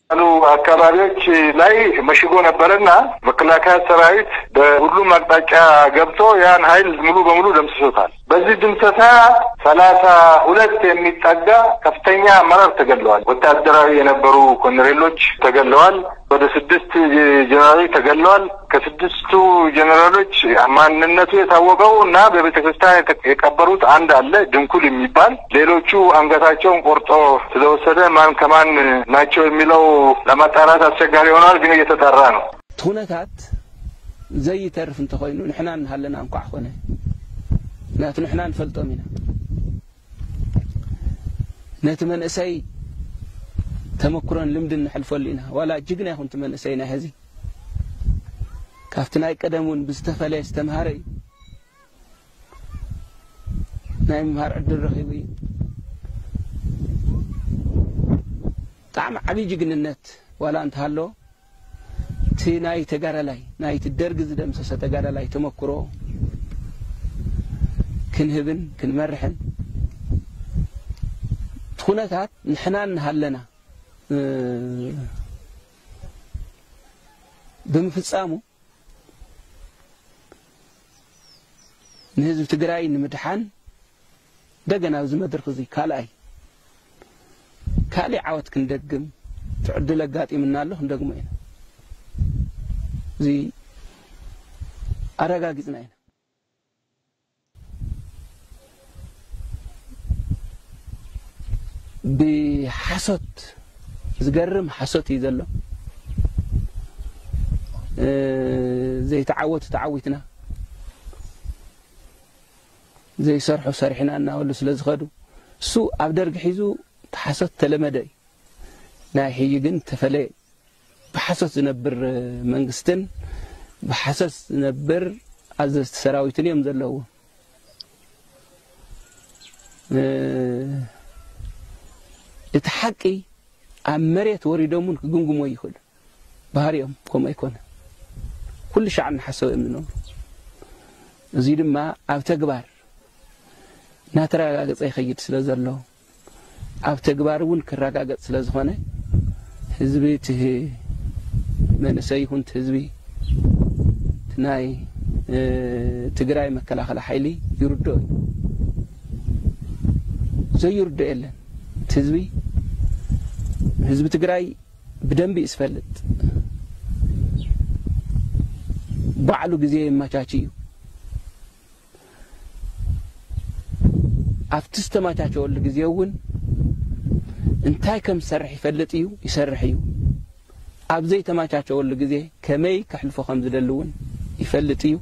ያሉ አካባቢዎች ላይ መሽጎ ነበረና መከላከያ ሰራዊት በሁሉም አቅጣጫ ገብቶ ያን ኃይል ሙሉ በሙሉ ደምስሶታል። በዚህ ድምሰሳ ሠላሳ ሁለት የሚጠጋ ከፍተኛ አመራር ተገለዋል። ወታደራዊ የነበሩ ኮሎኔሎች ተገለዋል። ወደ ስድስት ጀነራሎች ተገለዋል። ከስድስቱ ጀነራሎች ማንነቱ የታወቀው እና በቤተ ክርስቲያን የተ- የቀበሩት አንድ አለ ድንኩል የሚባል። ሌሎቹ አንገታቸውን ቆርጦ ስለወሰደ ማን ከማን ናቸው የሚለው ለማጣራት አስቸጋሪ ሆኗል፣ ግን እየተጣራ ነው። እቲ ኩነታት ዘይተርፍ እንተኾይኑ ንሕና እናሃለና እንኳዕ ኮነ። ምክንያቱ ንሕና ንፈልጦም ኢና። ነቲ መንእሰይ ተመክሮን ልምድን ንሕልፈሉ ኢና። ዋላ ጅግና ይኹን እቲ መንእሰይ ናይ ሕዚ ካብቲ ናይ ቀደም እውን ብዝተፈለየ ዝተምሃረ እዩ። ናይ ምምሃር ዕድል ረኺቡ እዩ። ብጣዕሚ ዓብዪ ጅግንነት ዋላ እንተሃለዎ እቲ ናይ ተጋዳላይ ናይቲ ደርጊ ዝደምሰሰ ተጋዳላይ ተመክሮ ክንህብን ክንመርሕን እቲ ኩነታት ንሕና እናሃለና እ፣ ብምፍጻሙ ንህዝቢ ትግራይ ንምድሓን እንደገና ኣብዚ መድረኽ እዚ ካልኣይ ካልእ ዓወት ክንደግም እቲ ዕድል ኣጋጢምና ኣሎ፣ ክንደግሞ ኢና። እዚ ኣረጋጊጽና ኢና። ብሓሶት፣ ዝገርም ሓሶት እዩ ዘሎ። እ፣ ዘይተዓወቱ ተዓዊትና፣ ዘይሰርሑ ሰሪሕና እናበሉ ስለ ዝኸዱ፣ እሱ ኣብ ደርጊ ሒዙ እቲ ሓሶት ተለመደ እዩ። ናይ ሕጂ ግን ተፈለየ። ብሓሶት ዝነብር መንግስትን ብሓሶት ዝነብር ኣዘዝቲ ሰራዊትን እዮም ዘለውዎ። እ፣ እቲ ሓቂ ኣብ መሬት ወሪዶም እውን ክግምግሞ ይኽእሉ። ባህሪኦም ከምኡ ኣይኮነ። ኩሉ ሻዕ እናሓሰቡ እዮም ዝነብሩ። እዚ ድማ ኣብ ተግባር እናተረጋገጸ ይኸይድ ስለ ዘሎ፣ ኣብ ተግባር እውን ክረጋገጽ ስለ ዝኾነ፣ ህዝቢ እቲ መንእሰይ ይኹን እቲ ህዝቢ እቲ ናይ፣ እ፣ ትግራይ መከላኸሊ ሓይሊ ይርድኦ እዩ። ዘይርድኦ የለን። እቲ ህዝቢ፣ ህዝቢ ትግራይ ብደንቢ እዩ ዝፈልጥ። ባዕሉ ግዜ የመቻች እዩ። ኣብቲ ዝተመቻቸወሉ ግዜ እውን እንታይ ከም ዝሰርሕ ይፈልጥ እዩ፣ ይሰርሕ እዩ። ኣብ ዘይተመቻቸወሉ ግዜ ከመይ ከሕልፎ ከም ዝደሊ እውን ይፈልጥ እዩ።